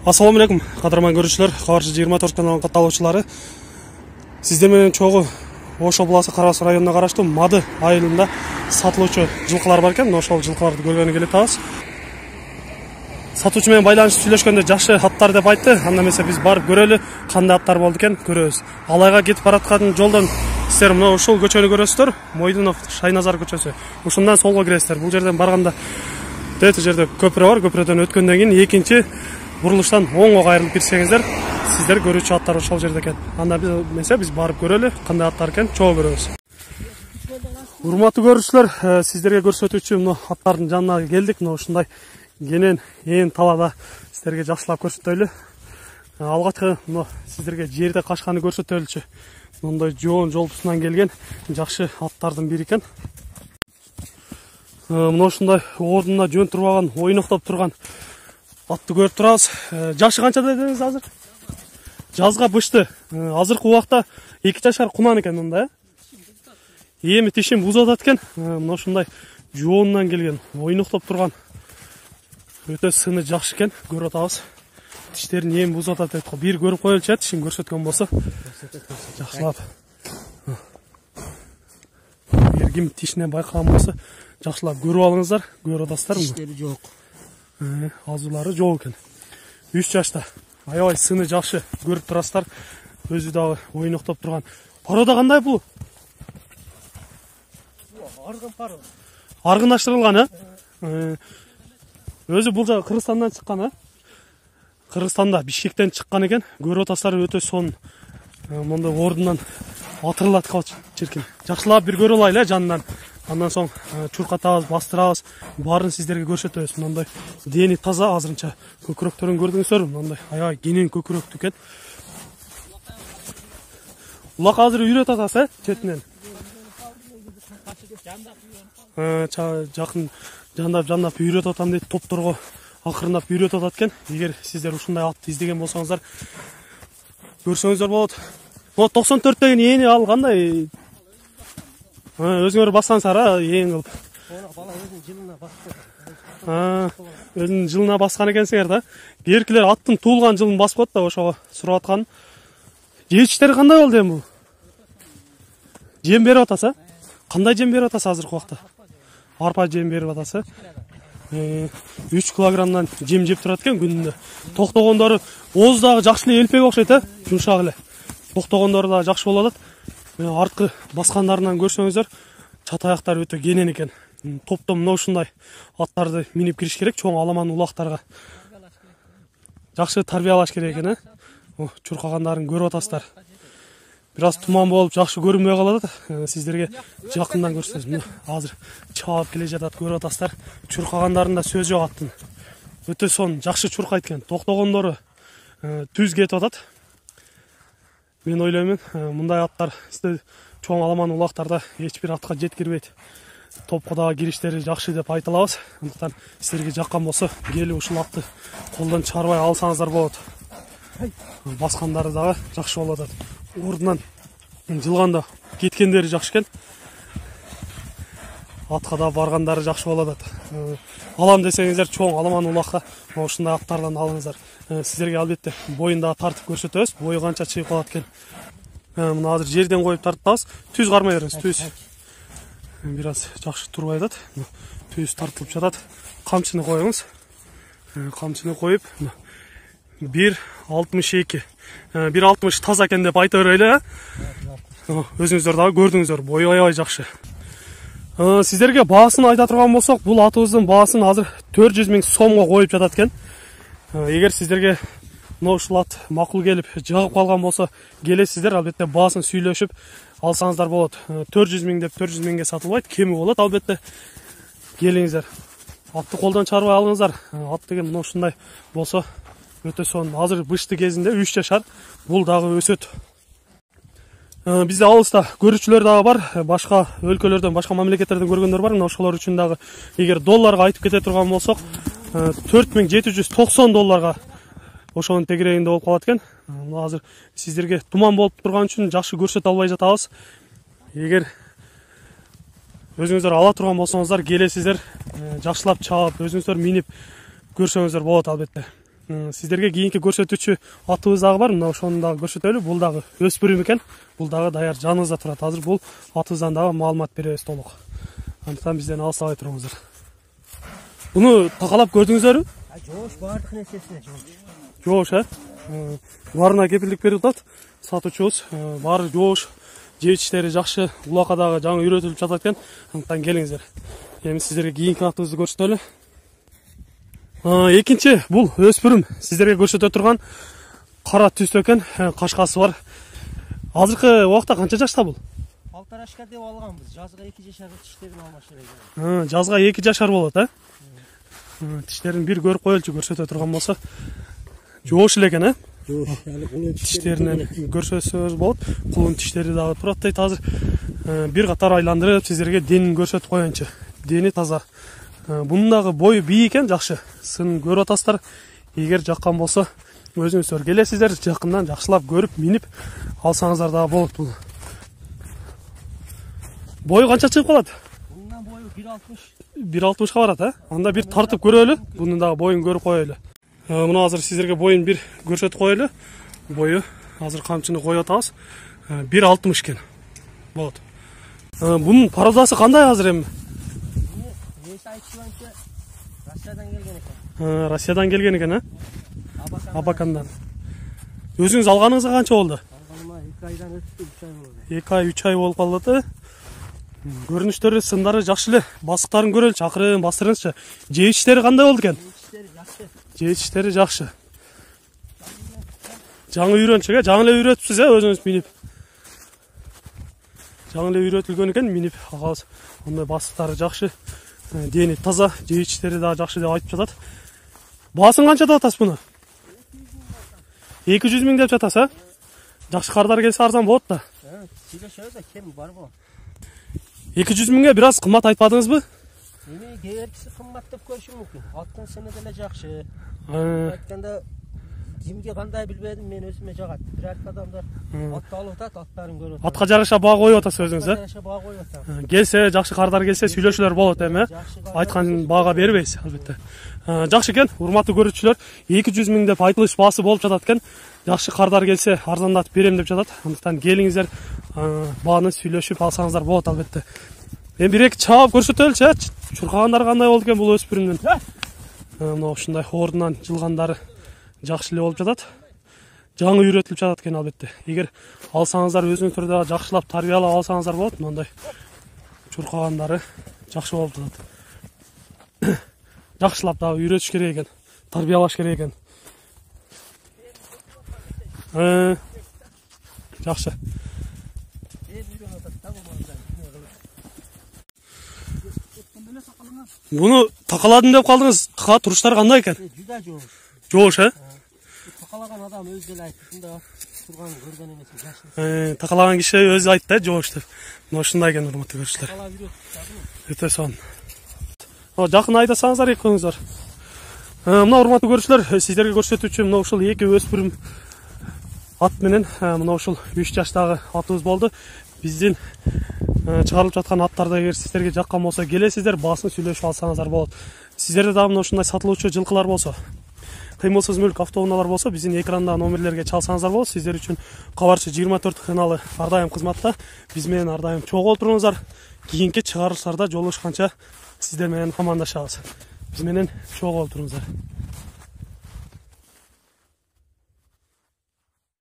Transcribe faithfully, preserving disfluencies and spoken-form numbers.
Ассаламу алейкум, кадырман көрүүчүлөр, Кабарчы жыйырма төрт каналынын катталуучулары. Сиздер менен чогуу Ош областы Карабас районуна караштуу Мады айылында сатылуучу жылкылар бар экен. Ошол жылкыларды көргөнү келип атабыз. Сатуучу менен байланышып сүйлөшкөндө жакшы аттар деп айтты. Анда эмесе биз барып көрөлү, кандай аттар болду экен, көрөбүз. Алайга кетип бараткан жолдон сиздер мына ушул көчөнү көрөсүздөр, Мойдунов Шайназар көчөсү. Ушундан солго киресиздер. Бул жерден барганда дете жерде көпүрө бар, көпүрөдөн өткөндөн кийин экинчи бурулуштан оңго кайрылып кирсеңиздер, сиздер көрүүчү аттар ошол жерде экен. Анда эмесе биз барып көрөлү, кандай аттар экен, чогуу көрөбүз. Урматтуу көрүүчүлөр, сиздерге көрсөтүүчү мына аттардын жанына келдик. Мына ушундай кенен ээн талаада сиздерге жакшылап көрсөтөлү. Алгачкы мына сиздерге жерде качканы көрсөтөлүчү. Мындай жоон жолпусунан келген жакшы аттардын бири экен. Мына ушундай ордуна жөн турбаган, ойноктоп турган атты көрүп турабыз. Жашы канча дедиңиз азыр? Жазга бышты. Азыркы убакта эки жашар кунан экен мында, э? Эми тишин бузуп атат экен. Мына ушундай жоонунан келген, ойноктоп турган өтө сыны жакшы экен, көрүп атабыз. Тиштерин эми бузуп атат дейт го. Бир көрүп коелучу, тишин көрсөткөн болсо. Жакшылап. Эгер ким тишинен байкаган болсо, жакшылап көрүп алыңыздар, көрүп атасыздар. Тиштери жок. Азуулары жок экен. үч жашта. Аябай сыны жакшы, көрүп турасыздар. Өзү дагы ойноктоп турган. Порода кандай бул? Аргын пары. Аргындаштырылган, э? Өзү бул жагы Кыргызстандан чыккан, э? Кыргызстанда Бишкектен чыккан экен. Көрүп атасыздар, өтө сонун. Мондай ордунан атырылат калчу черкен. Жакшылап бир көрүп алайлы жанынан. Андан соң чуркатабыз, бастырабыз, баарын сиздерге көрсөтөбүз. Мындай дени таза, азырынча көкүрөктөрүн көрдүңүздөр, мындай аябай кенен көкүрөктүү экен. Улак азыр үйрөтүп атасыз, э, четинен. Жакын жандап-жандап үйрөтүп атам дейт, топторго акырындап үйрөтүп атат экен. Эгер сиздер ушундай атты издеген болсоңуздар, көрсөңүздөр болот. Mo токсон төрт деген эни ал кандай? Өзүңөр бассаңыздар, эң кылып. Бала өзүнүн жылына басты. А, өзүнүн жылына баскан экенсиңер да. Эркилер аттын туулган жылын басып коет да, ошого сурап аткан. Жетиштери кандай болду эми бул? Жем берип атасыз, а? Кандай жем берип атасыз азыркы убакта? Арпа жем берип атасыз, э? үч килограммдан жем жеп турат экен күнүндө. Токтогондору ооз дагы жакшы эле элпеге окшойт, э? Жумшак эле. Токтогондору дагы жакшы болуп атат. Арткы баскандарынан көрсөңүздөр, чат аяктары өтө кенен экен. Топтон мына ушундай аттарды минип кириш керек, чоң аламан улактарга. Жакшы тарбиялаш керек экен, э? Чуркагандарын көрүп атасыздар. Бир аз туман болуп, жакшы көрүнбөй калат. Сиздерге жакындан көрсөтөбүз. Азыр чаап келе жатат, көрүп атасыздар. Чуркагандарында сөз жок аттын. Өтө сонун, жакшы чуркайт экен. Токтогондору түз кетип атат. Мен ойлоймун, мындай аттар чоң аламан улактарда эч бир атка жеткирбейт. Топко дагы кириштери жакшы деп айта алабыз. Андыктан сиздерге жаккан болсо, келип ушул атты колдон чыгарбай алсаңыздар болот. Баскандары дагы жакшы болуп атат. Ордунан жылганда кеткендери жакшы экен. Атка да баргандары жакшы болуп атат. Алам десеңиздер, чоң аламан улакка ушундай аттардан алыңыздар. Сиздерге албетте боюн дагы тартып көрсөтөбүз. Бою канча чыгып калат экен. Мына азыр жерден коюп тартабыз. Түз кармай бериңиз, түз. Бир аз жакшы турбай атат. Түз тартылып жатат. Камчыны коюңуз. Камчыны коюп, бир алтымыш эки. бир алтымыш таза экен деп айта берели, э? Өзүңүздөр дагы көрдүңүздөр, бою аябай жакшы. Сиздерге баасын айта турган болсок, бул атыбыздын баасын азыр төрт жүз миң сомго коюп жатат экен. Эгер сиздерге мына ушул ат макул келип, жагып калган болсо, келесиздер, албетте баасын сүйлөшүп алсаңыздар болот. төрт жүз миң деп төрт жүз миңге сатылбайт, кеми болот, албетте. Келиңиздер. Атты колдон чыгарбай алыңыздар. Ат деген мына ушундай болсо, өтө сонун. Азыр бышты кезинде үч жашар, бул дагы өсөт. Бизде алыста көрүүчүлөр дагы бар, башка өлкөлөрдөн, башка мамлекеттерден көргөндөр бар. Мына ошолор үчүн дагы эгер долларга айтып кете турган болсок, төрт миң жети жүз токсон долларга ошонун тегерегинде болуп калат экен. Мына азыр сиздерге туман болуп турган үчүн жакшы көрсөтө албай жатабыз. Эгер өзүңүздөр ала турган болсоңуздар, келесиздер, жакшылап чаап, өзүңүздөр минип көрсөңүздөр болот албетте. Сиздерге кийинки көрсөтүүчү атыбыз дагы бар. Мына ошону дагы көрсөтөлү. Бул дагы өспүрүм экен. Бул дагы даяр жаныбызда турат. Азыр бул атыбыздан дагы маалымат беребиз толук. Андыктан бизден алыстабай туруңуздар. Буну такалап көрдүңүздөрбү? Жоош баардык нерсесине жоош. Жоош, э? Баарына кепилдик берип атат. Сатуучубуз баары жоош, жеп иштери жакшы, улакка дагы жаңы үйрөтүлүп жатат экен. Андыктан келиңиздер. Эми сиздерге кийинки атыбызды көрсөтөлү. Экинчи бул өспүрүм сиздерге көрсөтө турган кара түстө экен, кашкасы бар. Азыркы убакта канча жашта бул? Алтарашка деп алганбыз. Жазга эки жашар тиштерин алмашыр экен. Жазга эки жашар болот, э? Тиштерин бир көрүп коелучу көрсөтө турган болсо. Жоош эле экен, э? Жоош, али кулун тиштеринен көрсөтсөңүз болот. Кулун тиштери дагы турат дейт. Азыр бир катар айландырып сиздерге денин көрсөтүп коеюнчу. Дени таза. Bunun dagы boyu бий экен, жакшы. Сын көрүп атасыздар. Эгер жаккан болсо, өзүңүздөр келесиздер, жакындан жакшылап көрүп, минип алсаңыздар дагы болот бул. Бою канча чыгып калат? Bundan boyu bir altmış. bir алтымышка барат, э? Анда бир тартып көрөлү. Bunun дагы боюн көрүп коелу. Мына азыр сиздерге боюн бир көрсөтүп коелу. Бою азыр камчыны коюп атабыз. bir алтымыш экен. Болот. Bunun породасы кандай азыр эми? Россиядан келген экен. Россиядан келген экен, э? Абакандан. Абакандан. Өзүңүз алганыңызга канча болду? Алганыма эки айдан өттү, үч ай болду. эки ай, үч ай болуп калды, э? Көрүнүштөрү, сындары жакшы эле. Басыктарын көрөлүчү, акырын бастырыңызчы. Жеп иштери кандай болду экен? Иштери жакшы. Жеп иштери жакшы. Жаңы үйрөнчүк, э? Жаңы эле үйрөтүпсүз, э, өзүңүз минип. Жаңы эле үйрөтүлгөн экен, минип агабыз. Ондай басыктары жакшы. Дени таза, жеп иштери дагы жакшы деп айтып жатат. Баасын канча деп атасыз буну? эки жүз миң деп жатасыз, э? Жакшы кардар келсе арзан болот да. Сүйлөшөбүз да, кем бар бул. эки жүз миңге бир аз кымбат айтпадыңызбы? Эми кээбиркиси кымбат деп көрүшү мүмкүн. Аттын сыны деле жакшы. Э. Айтканда кимге кандай билбедим, мен өзүмө жагат. Бирок адамдар атты алып атат, аттарын көрүп атат. Атка жараша баа коюп атасыз өзүңүз, э? Жараша баа коюп атам. Келсе, жакшы кардар келсе сүйлөшүүлөр болот эми, э? Айткан баага бербейсиз, албетте. Жакшы экен, урматтуу көрүүчүлөр, эки жүз миң деп айтылыш баасы болуп жатат экен. Жакшы кардар келсе, арзандатып берем деп жатат. Андыктан келиңиздер, бааны сүйлөшүп алсаңыздар болот, албетте. Эми бир эки чаап көрсөтөлүчү, э? Чуркагандар кандай болду экен бул өспүрүмдүн? Мына ушундай ордунан жылгандары жакшы эле болуп жатат. Жаңы үйрөтүлүп жатат экен, албетте. Эгер алсаңыздар, өзүңүздөр да жакшылап тарбиялап алсаңыздар болот. Мындай чуркагандары жакшы болуп жатат. Жакшылап дагы үйрөтүш керек экен, тарбиялаш керек экен. Э, жакшы. Буну такаладым деп калдыңыз. Ка туруштар кандай экен? Жүдө жоош. Жоош, э? Такалаган адам өзү деле айтты, ушунда турган көргөн эмес, жакшы. Э, такалаган киши өзү айтты, жоош деп. Мына ушундай экен, урматтуу көрүүчүлөр. Такалап үйрөтүп Өтө сонун. Жакын айдасаңыздар экөөңүздөр. Мына урматтуу көрүүчүлөр, сиздерге көрсөтүүчү мына ушул эки өспүрүм ат менен мына ушул үч жаштагы атыбыз болду. Биздин чыгарылып жаткан аттарды эгер сиздерге жаккан болсо, келесиздер, баасын сүйлөшүп алсаңыздар болот. Сиздерде дагы мына ушундай сатылуучу жылкылар болсо, кыймылсыз мүлк автоунаалар болсо, биздин экранда номерлерге чалсаңыздар болот. Сиздер үчүн Кабарчы жыйырма төрт каналы ар дайым кызматта. Биз менен ар дайым чогуу туруңуздар. Кийинки чыгарылыштарда жолугушканча сиздер менен амандашабыз. Биз менен чогуу туруңуздар.